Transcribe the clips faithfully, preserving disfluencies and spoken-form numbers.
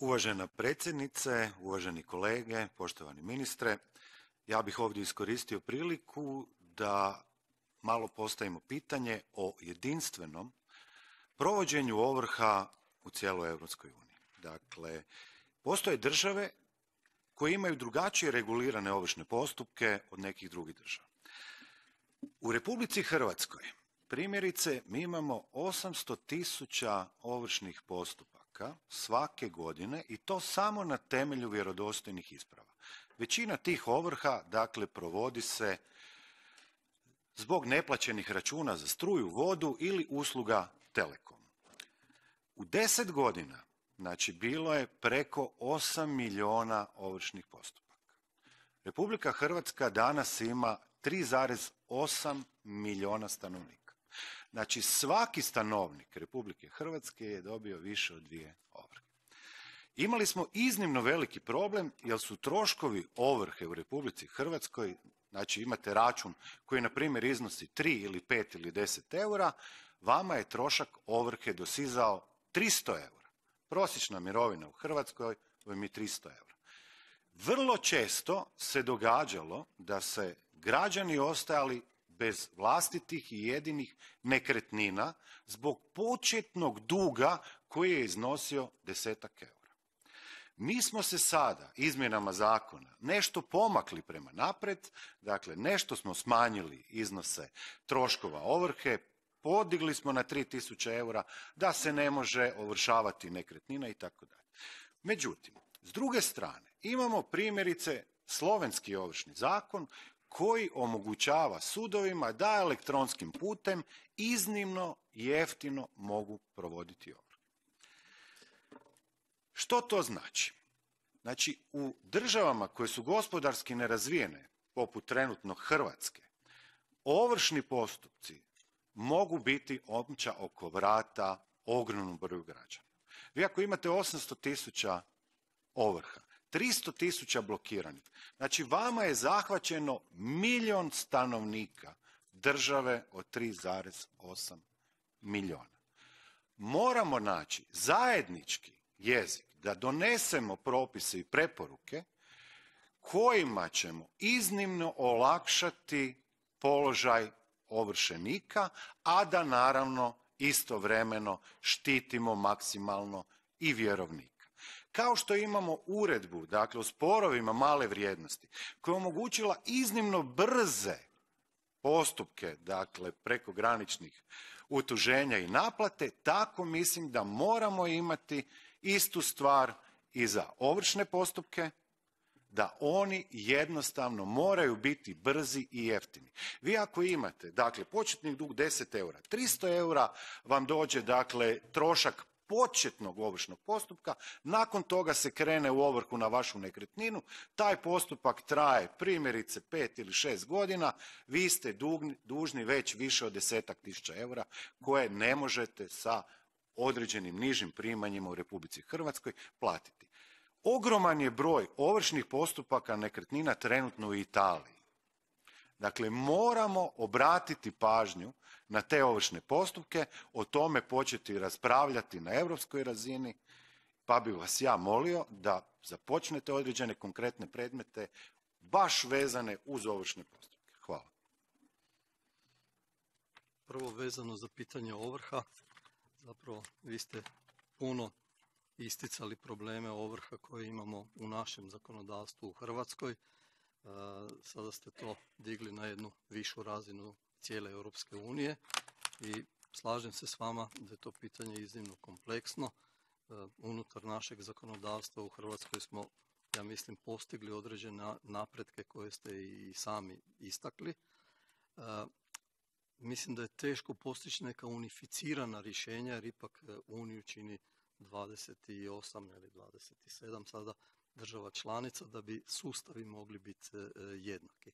Uvažena predsjednice, uvaženi kolege, poštovani ministre, ja bih ovdje iskoristio priliku da malo postavimo pitanje o jedinstvenom provođenju ovrha u cijeloj Europskoj uniji. Dakle, postoje države koje imaju drugačije regulirane ovršne postupke od nekih drugih država. U Republici Hrvatskoj, primjerice, mi imamo osamsto tisuća ovršnih postupaka svake godine i to samo na temelju vjerodostojnih isprava. Većina tih ovrha, dakle, provodi se zbog neplaćenih računa za struju, vodu ili usluga Telekom. U deset godina, znači, bilo je preko osam milijuna ovršnih postupaka. Republika Hrvatska danas ima tri zarez osam milijuna stanovnika. Znači, svaki stanovnik Republike Hrvatske je dobio više od dvije ovrhe. Imali smo iznimno veliki problem jer su troškovi ovrhe u Republici Hrvatskoj, znači imate račun koji na primjer iznosi tri ili pet ili deset eura, vama je trošak ovrhe dosizao tristo eura. Prosječna mirovina u Hrvatskoj vam je tristo eura. Vrlo često se događalo da se građani ostajali bez vlastitih i jedinih nekretnina zbog početnog duga koji je iznosio desetak eura. Mi smo se sada izmjenama zakona nešto pomakli prema naprijed, dakle nešto smo smanjili iznose troškova ovrhe, podigli smo na tri tisuće eura da se ne može ovršavati nekretnina i tako dalje. Međutim, s druge strane imamo primjerice slovenski ovršni zakon koji omogućava sudovima da elektronskim putem iznimno jeftino mogu provoditi ovrhe. Što to znači? Znači, u državama koje su gospodarski nerazvijene, poput trenutno Hrvatske, ovršni postupci mogu biti omča oko vrata ogromnom broju građana. Vi ako imate osamsto tisuća ovrha, tristo tisuća blokiranih, znači vama je zahvaćeno milijon stanovnika države od tri zarez osam milijuna. Moramo naći zajednički jezik da donesemo propise i preporuke kojima ćemo iznimno olakšati položaj ovršenika, a da naravno istovremeno štitimo maksimalno i vjerovnika. Kao što imamo uredbu, dakle, o sporovima male vrijednosti, koja je omogućila iznimno brze postupke, dakle, prekograničnih utuženja i naplate, tako mislim da moramo imati istu stvar i za ovršne postupke, da oni jednostavno moraju biti brzi i jeftini. Vi ako imate, dakle, početni dug deset eura, tristo eura vam dođe, dakle, trošak početnog ovršnog postupka, nakon toga se krene u ovrhu na vašu nekretninu, taj postupak traje primjerice pet ili šest godina, vi ste dužni, dužni već više od desetak tisuća eura koje ne možete sa određenim nižim primanjima u Republici Hrvatskoj platiti. Ogroman je broj ovršnih postupaka nekretnina trenutno u Italiji. Dakle, moramo obratiti pažnju na te ovršne postupke, o tome početi raspravljati na europskoj razini, pa bih vas ja molio da započnete određene konkretne predmete baš vezane uz ovršne postupke. Hvala. Prvo, vezano za pitanje ovrha, zapravo vi ste puno isticali probleme ovrha koje imamo u našem zakonodavstvu u Hrvatskoj. Sada ste to digli na jednu višu razinu cijele Europske unije i slažem se s vama da je to pitanje iznimno kompleksno. Unutar našeg zakonodavstva u Hrvatskoj smo, ja mislim, postigli određene napretke koje ste i sami istakli. Mislim da je teško postići neka unificirana rješenja jer ipak Uniju čini dvadeset osam ili dvadeset sedam sada država članica da bi sustavi mogli biti jednaki.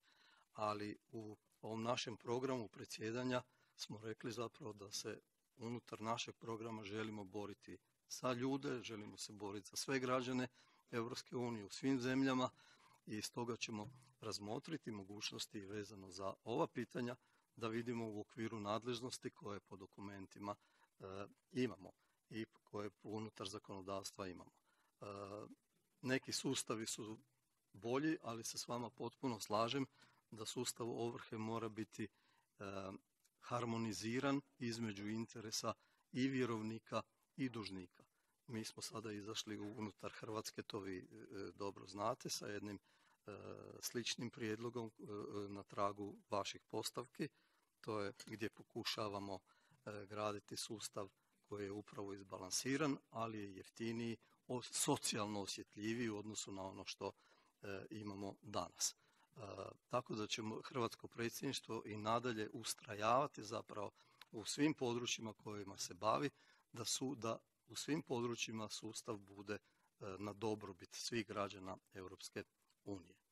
Ali u ovom našem programu predsjedanja smo rekli zapravo da se unutar našeg programa želimo boriti za ljude, želimo se boriti za sve građane Europske unije u svim zemljama i stoga ćemo razmotriti mogućnosti vezano za ova pitanja da vidimo u okviru nadležnosti koje po dokumentima e, imamo i koje unutar zakonodavstva imamo. Neki sustavi su bolji, ali se s vama potpuno slažem da sustav ovrhe mora biti harmoniziran između interesa i vjerovnika i dužnika. Mi smo sada izašli unutar Hrvatske, to vi dobro znate, sa jednim sličnim prijedlogom na tragu vaših postavki. To je gdje pokušavamo graditi sustav koji je upravo izbalansiran, ali je jeftiniji, socijalno osjetljiviji u odnosu na ono što imamo danas. Tako da ćemo Hrvatsko predsjedništvo i nadalje ustrajavati zapravo u svim područjima kojima se bavi, da su da u svim područjima sustav bude na dobrobit svih građana Europske unije.